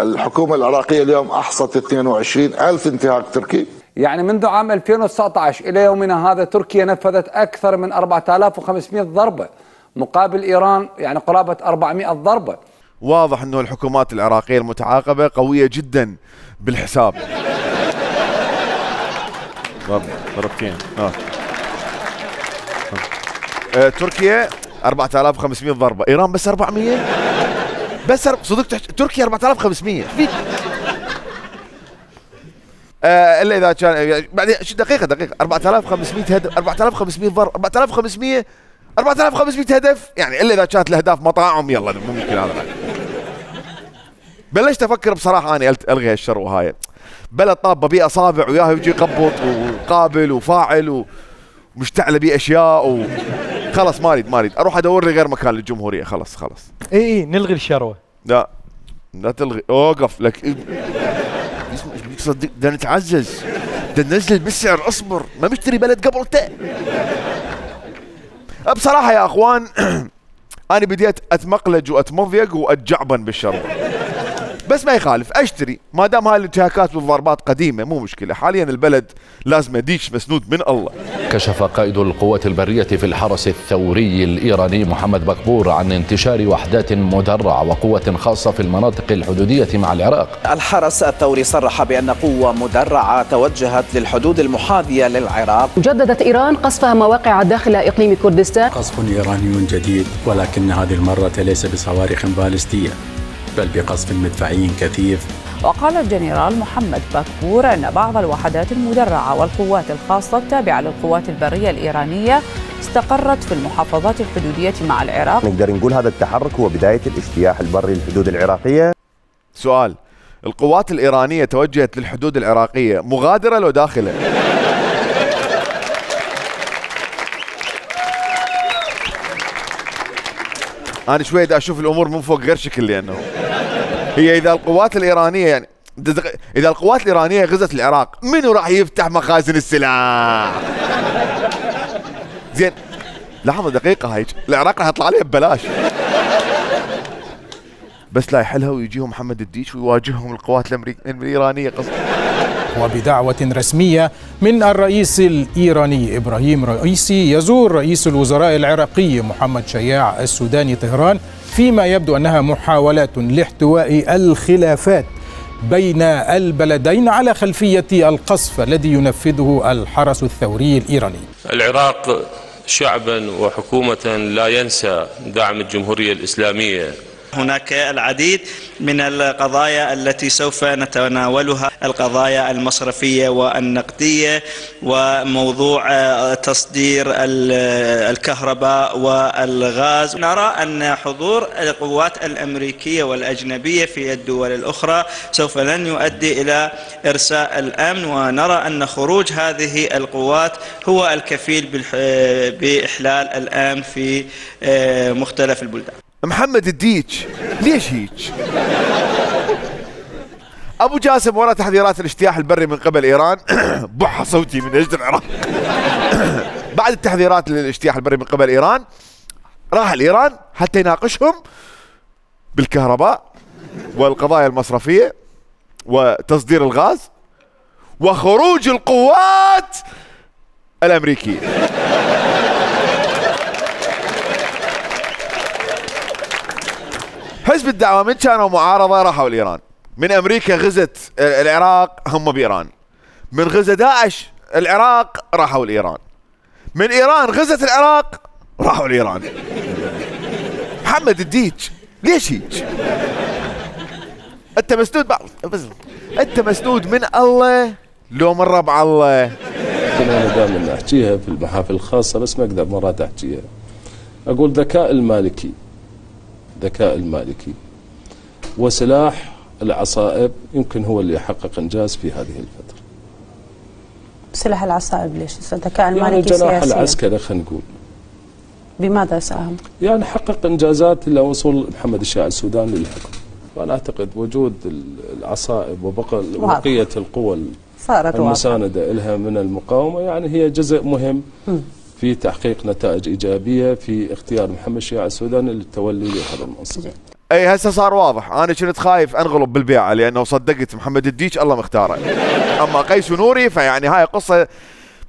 الحكومة العراقية اليوم أحصت اثنين وعشرين ألف انتهاك تركي. يعني منذ عام ألفين وتسعة عشر إلى يومنا هذا تركيا نفذت أكثر من أربعة آلاف وخمسمئة ضربة، مقابل إيران يعني قرابة أربعمئة ضربة. واضح أنه الحكومات العراقية المتعاقبة قوية جدا بالحساب. ضربتين. آه. آه. تركيا أربعة آلاف وخمسمئة ضربة، إيران بس أربعمئة. بس صدق تحت... تركيا أربعة آلاف وخمسمئة. آه الا اذا كان بعدين دقيقه دقيقه أربعة آلاف وخمسمئة هدف، أربعة آلاف وخمسمئة ضرب، أربعة آلاف وخمسمئة أربعة آلاف وخمسمئة هدف، يعني الا اذا كانت الاهداف مطاعم يلا مو ممكن هذا. بلشت افكر بصراحه انا الغي هالشر هاي. بلد طابه بيه اصابع وياه يجي يقبط وقابل وفاعل ومشتعله بيه اشياء و خلص ما اريد ما اريد اروح ادور لي غير مكان للجمهوريه. خلص خلص اي اي نلغي الشروه. لا لا تلغي، اوقف لك صدق ده نتعزز، ده ننزل بالسعر، اصبر ما مشتري بلد قبلته. بصراحه يا اخوان انا بديت اتمقلج واتمضيق واتجعبن بالشر، بس ما يخالف اشتري ما دام هاي الانتهاكات والضربات قديمه مو مشكله. حاليا البلد لازم ديش مسنود من الله. كشف قائد القوات البريه في الحرس الثوري الايراني محمد بكبور عن انتشار وحدات مدرعه وقوه خاصه في المناطق الحدوديه مع العراق. الحرس الثوري صرح بان قوه مدرعه توجهت للحدود المحاذيه للعراق. جددت ايران قصفها مواقع داخل اقليم كردستان. قصف ايراني جديد، ولكن هذه المره ليس بصواريخ باليستيه بل بقصف مدفعي كثيف. وقال الجنرال محمد بكبور أن بعض الوحدات المدرعة والقوات الخاصة التابعة للقوات البرية الإيرانية استقرت في المحافظات الحدودية مع العراق. نقدر نقول هذا التحرك هو بداية الاجتياح البري للحدود العراقية. سؤال، القوات الإيرانية توجهت للحدود العراقية مغادرة لو داخلة؟ أنا شوي دا أشوف الأمور من فوق غير شكل، لأنه هي إذا القوات الإيرانية يعني إذا القوات الإيرانية غزت العراق منو راح يفتح مخازن السلاح؟ زين لحظة دقيقة، هيك العراق راح يطلع عليها ببلاش، بس لا يحلها ويجيهم محمد الديش ويواجههم القوات الإيرانية قصدي. وبدعوة رسمية من الرئيس الإيراني إبراهيم رئيسي يزور رئيس الوزراء العراقي محمد شياع السوداني طهران، فيما يبدو أنها محاولات لاحتواء الخلافات بين البلدين على خلفية القصف الذي ينفذه الحرس الثوري الإيراني. العراق شعبا وحكومة لا ينسى دعم الجمهورية الإسلامية. هناك العديد من القضايا التي سوف نتناولها، القضايا المصرفية والنقدية وموضوع تصدير الكهرباء والغاز. نرى أن حضور القوات الأمريكية والأجنبية في الدول الأخرى سوف لن يؤدي إلى إرساء الأمن، ونرى أن خروج هذه القوات هو الكفيل بإحلال الأمن في مختلف البلدان. محمد الديش ليش هيك؟ ابو جاسم ورا تحذيرات الاجتياح البري من قبل ايران بح صوتي من اجل العراق. بعد التحذيرات للاجتياح البري من قبل ايران راح لايران حتى يناقشهم بالكهرباء والقضايا المصرفيه وتصدير الغاز وخروج القوات الامريكيه. حزب الدعوة من كانوا معارضة راحوا لإيران، من أمريكا غزت العراق هم بإيران، من غزة داعش العراق راحوا لإيران، من إيران غزت العراق راحوا لإيران. محمد الديش ليش هيك؟ أنت مسنود بعض أنت مسنود من الله لو من ربع الله. أنا دائما أحكيها في المحافل الخاصة بس ما أقدر مرات أحكيها. أقول ذكاء المالكي ذكاء المالكي وسلاح العصائب يمكن هو اللي يحقق انجاز في هذه الفتره. سلاح العصائب ليش؟ الذكاء المالكي يعني سياسي. الجناح العسكري خلينا نقول. بماذا ساهم؟ يعني حقق انجازات الى وصول محمد الشياع السوداني للحكم. وانا اعتقد وجود العصائب وبقيه القوى المسانده لها من المقاومه يعني هي جزء مهم م. في تحقيق نتائج إيجابية في اختيار محمد الشياع السوداني للتولي لهذا المنصب. اي هسه صار واضح. انا كنت خايف انغلب بالبيعه لانه صدقت محمد الديك الله مختاره. اما قيس ونوري فيعني هاي قصه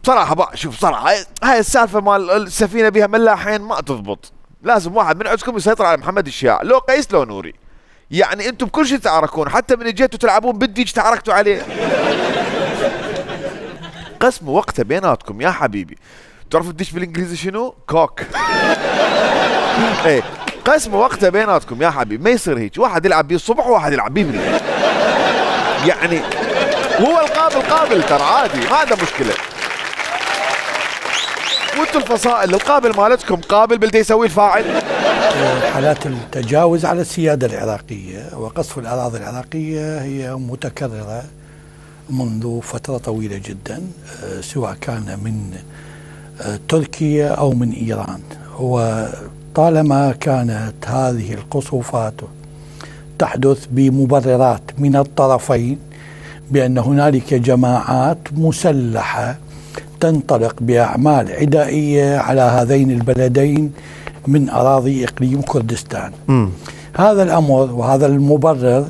بصراحه بقى. شوف صراحه هاي, هاي السالفه مال السفينه بها ملاحين ما تضبط. لازم واحد من عندكم يسيطر على محمد الشياع، لو قيس لو نوري. يعني انتم بكل شيء تعاركون، حتى من جيتوا تلعبون بالديج تعاركتوا عليه. قسموا وقته بيناتكم يا حبيبي. تعرفوا الديش بالانجليزي شنو؟ كوك. ايه قسموا وقته بيناتكم يا حبيبي، ما يصير هيك، واحد يلعب بيه الصبح وواحد يلعب بيه بالليل. يعني هو القابل قابل ترى عادي، ما عنده مشكله. وانتم الفصائل القابل مالتكم قابل بلدي يسوي الفاعل. حالات التجاوز على السياده العراقيه وقصف الاراضي العراقيه هي متكرره منذ فتره طويله جدا، سواء كان من تركيا او من ايران. وطالما كانت هذه القصوفات تحدث بمبررات من الطرفين بان هنالك جماعات مسلحه تنطلق بأعمال عدائية على هذين البلدين من أراضي إقليم كردستان. م. هذا الأمر وهذا المبرر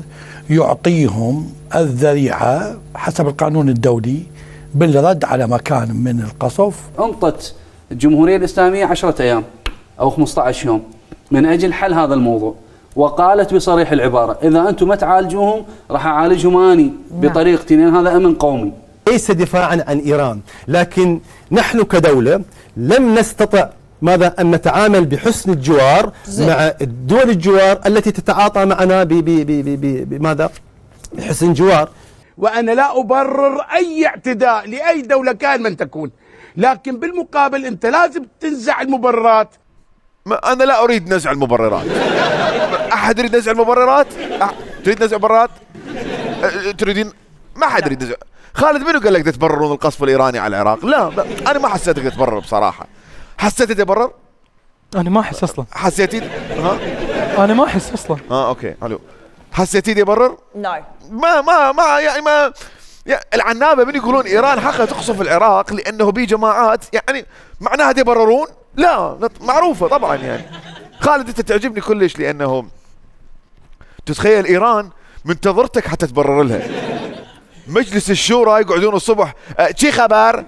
يعطيهم الذريعة حسب القانون الدولي بالرد على مكان من القصف. أنطت الجمهورية الإسلامية عشرة أيام أو خمسة عشر يوم من أجل حل هذا الموضوع، وقالت بصريح العبارة إذا أنتم ما تعالجوهم راح أعالجهم أني بطريقتي، لأن هذا أمن قومي. ليس دفاعا عن إيران، لكن نحن كدولة لم نستطع ماذا أن نتعامل بحسن الجوار مع الدول الجوار التي تتعاطى معنا بماذا؟ بحسن جوار. وأنا لا أبرر أي اعتداء لأي دولة كان من تكون، لكن بالمقابل أنت لازم تنزع المبررات. أنا لا أريد نزع المبررات. أحد يريد نزع المبررات؟ أح... تريد نزع المبررات؟ أه... تريدين؟ ما حد يريد نزع. خالد منو قال لك تبررون القصف الإيراني على العراق؟ لا, لا أنا ما حسيتك تبرر بصراحة. حسيت تبرر؟ أنا ما أحس أصلا. حسيتي؟ ها؟ أنا ما أحس أصلا. اه أوكي حلو. حسيتي يبرر؟ نو. ما ما ما يعني ما يعني العنابة من يقولون إيران حقها تقصف العراق لأنه بي جماعات، يعني معناها يبررون؟ لا معروفة طبعا. يعني خالد أنت تعجبني كلش لأنه تتخيل إيران منتظرتك حتى تبرر لها. مجلس الشورى يقعدون الصبح شي خبر؟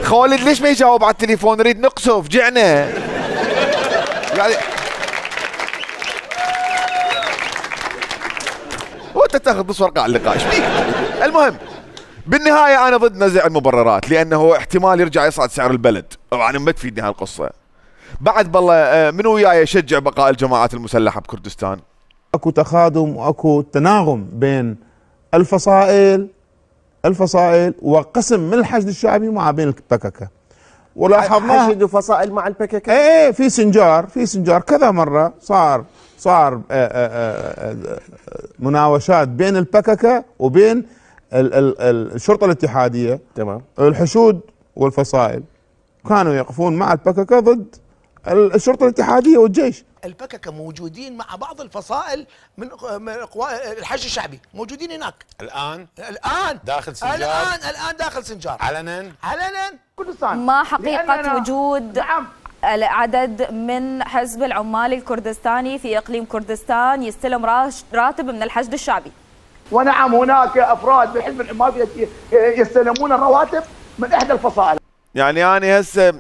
خالد ليش ما يجاوب على التليفون؟ نريد نقصف جعنا. يعني وانت تاخذ نص ورقه على اللقاء ايش بيك؟ المهم بالنهايه انا ضد نزع المبررات لانه احتمال يرجع يصعد سعر البلد، طبعا ما تفيدني هالقصه. بعد بالله منو وياي يشجع بقاء الجماعات المسلحه بكردستان؟ اكو تخاذم واكو تناغم بين الفصائل الفصائل وقسم من الحشد الشعبي مع بين البككه. ولاحظنا حشد وفصائل مع البككه؟ ايه في سنجار في سنجار كذا مره صار صار مناوشات بين البككه وبين ال ال الشرطه الاتحاديه. تمام. الحشود والفصائل كانوا يقفون مع البككه ضد الشرطه الاتحاديه والجيش. البككه موجودين مع بعض الفصائل من قوى الحشد الشعبي، موجودين هناك الان الان داخل سنجار الان الان داخل سنجار علنا علنا كردستان. ما حقيقه وجود نعم العدد من حزب العمال الكردستاني في اقليم كردستان يستلم راتب من الحشد الشعبي؟ ونعم هناك افراد بحزب العمال يستلمون الرواتب من احدى الفصائل. يعني انا هسه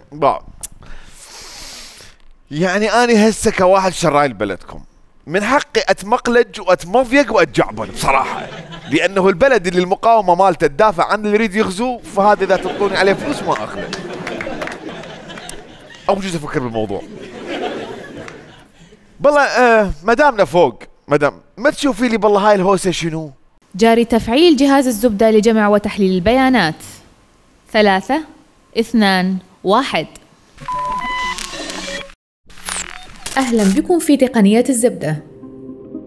يعني أنا هسه كواحد شرايل بلدكم من حقي أتمقلج وأتمضيق وأتجعبن بصراحة، لأنه البلد اللي المقاومة مالته تدافع عن اللي يريد يغزو، فهذا إذا تعطوني عليه فلوس ما أخذه. أو جزء أفكر بالموضوع. بالله آه مدامنا فوق، مدام ما تشوفي لي بالله هاي الهوسة شنو؟ جاري تفعيل جهاز الزبدة لجمع وتحليل البيانات. ثلاثة اثنان واحد. أهلا بكم في تقنية الزبدة.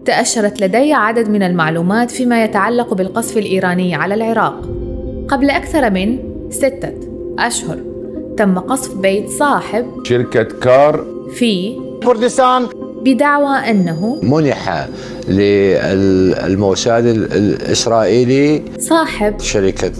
تأشرت لدي عدد من المعلومات فيما يتعلق بالقصف الإيراني على العراق. قبل أكثر من ستة أشهر تم قصف بيت صاحب شركة كار في كردستان بدعوى أنه منح للموساد الإسرائيلي صاحب شركة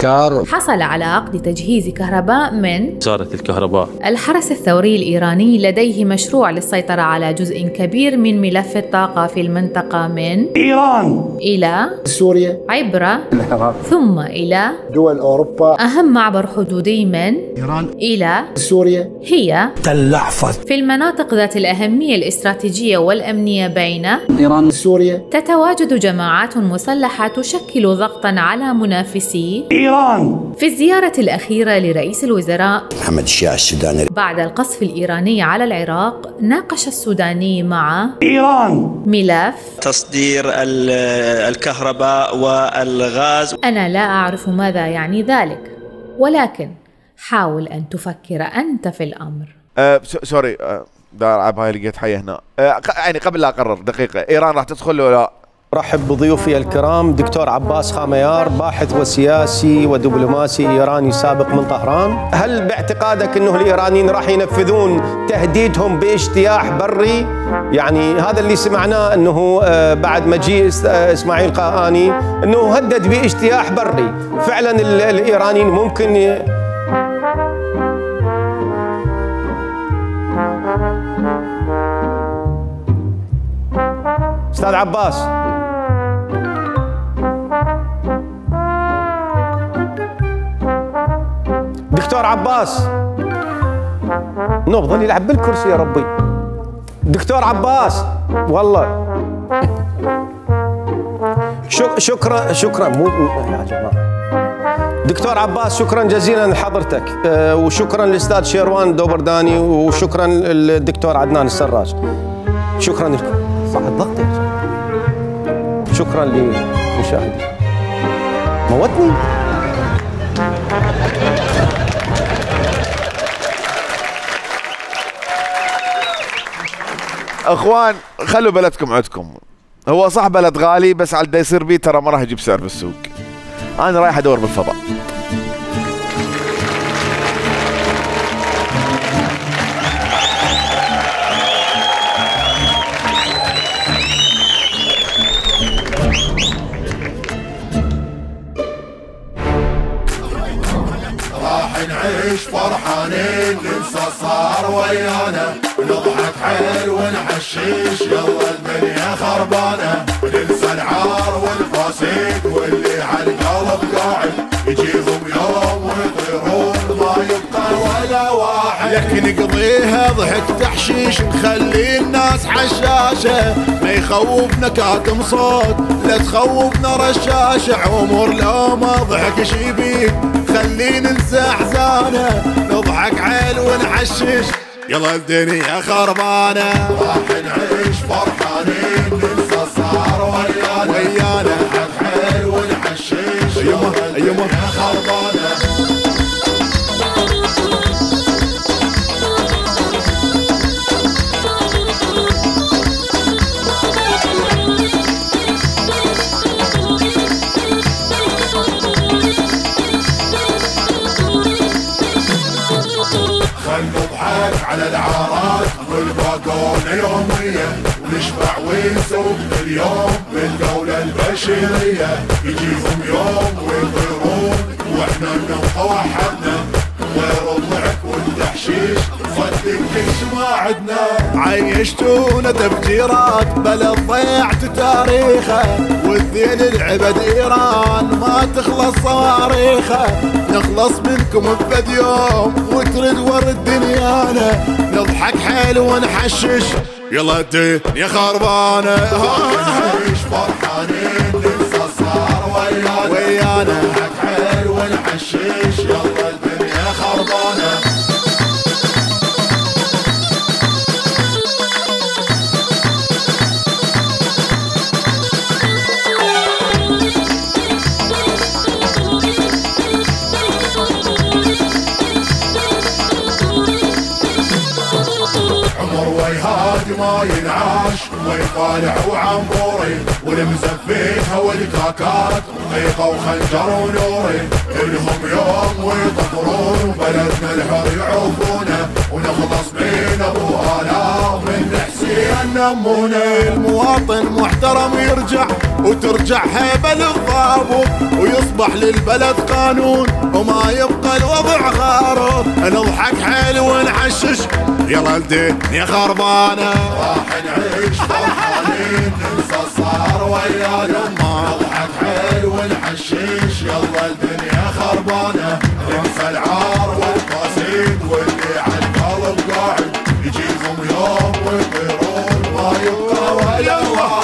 الابتكار. حصل على عقد تجهيز كهرباء من وزارة الكهرباء. الحرس الثوري الإيراني لديه مشروع للسيطرة على جزء كبير من ملف الطاقة في المنطقة من إيران إلى سوريا عبر العراق ثم إلى دول أوروبا. أهم معبر حدودي من إيران إلى سوريا هي تل أحفظ. في المناطق ذات الأهمية الاستراتيجية والأمنية بين إيران سوريا. تتواجد جماعات مسلحة تشكل ضغطا على منافسي إيران. في الزيارة الأخيرة لرئيس الوزراء محمد الشياع السوداني بعد القصف الإيراني على العراق، ناقش السوداني مع إيران ملف تصدير الكهرباء والغاز. أنا لا أعرف ماذا يعني ذلك، ولكن حاول أن تفكر أنت في الأمر. أه سوري أه دار العب هاي لقيت حيه هنا. أه يعني قبل لا اقرر دقيقه، ايران راح تدخل ولا لا؟ رحب بضيوفي الكرام دكتور عباس خاميار، باحث وسياسي ودبلوماسي ايراني سابق من طهران. هل باعتقادك انه الايرانيين راح ينفذون تهديدهم باجتياح بري؟ يعني هذا اللي سمعناه انه بعد مجيء اسماعيل قاهاني انه هدد باجتياح بري. فعلا الايرانيين ممكن ي... استاذ عباس. دكتور عباس نبضل يلعب بالكرسي يا ربي. دكتور عباس والله شكرا شكرا مو يا جماعه. دكتور عباس شكرا جزيلا لحضرتك، وشكرا للاستاذ شيروان دوبرداني، وشكرا للدكتور عدنان السراج. شكرا لكم. صح الضغط يا جماعه. شكرا للمشاهدين. موتني. اخوان خلوا بلدكم عندكم. هو صح بلد غالي، بس على اللي يصير بيه ترى ما راح يجيب سعر بالسوق. انا رايح ادور بالفضاء. نعيش فرحانين ننسى صار ويانا، نضحك حيل ونحشيش يلا الدنيا خربانة، وننسى العار والفاسد واللي عالقلب قاعد، يجيهم يوم ويطيرون ما يبقى ولا واحد. لك نقضيها ضحك تحشيش نخلي الناس حشاشة، ما يخوفنا كاتم صوت لا تخوفنا رشاشة، عمر لو ما ضحك شيبيك خلي ننسى احزانه، نضحك عيل ونحشش يلا الدنيا خربانه. راح نعيش فرحانين ننسى صار ويانا، ويانا نضحك عيل ونحشش يلا الدنيا خربانه. نضحك على العارات والباقونة يومية، ونشبع ونسوق اليوم بالدولة البشرية، يجيهم يوم ويطيرون واحنا نبقى وحدنا، غير الضحك والتحشيش صدق كل ما عدنا. عيشتونا تفجيرات بلد ضيعت تاريخه، والذيل العبد ايران ما تخلص صواريخه، نخلص منكم بفد يوم وترد ورد دنيانا، نضحك حيل ونحشش يلا الدنيا خربانه. نعيش فرحانين ننسى صار ويانا، ويانا نضحك حيل ونحشش يلا الدنيا خربانه. ما ينعاش ويطالع وعموري، والمزفيها والكاكات ضيقة وخنجر ونوري، إلهم يوم ويطفرون وبلدنا الحر يعوفونه، ونخلص بين ابو آلاء من حسين نمونه. المواطن محترم يرجع وترجع هيبة للضابط ويصبح للبلد قانون وما يبقى الوضع غارض. نضحك حيل ونعشش يلا الدنيا خربانة راح نعيش فرحانين ننسى صار ويا الأمة. نضحك حيل ونعشش يلا الدنيا خربانة ننسى العار والقصيد واللي عالقلب قاعد يجيهم يوم ويطيرون ما يبقى ولا واحد.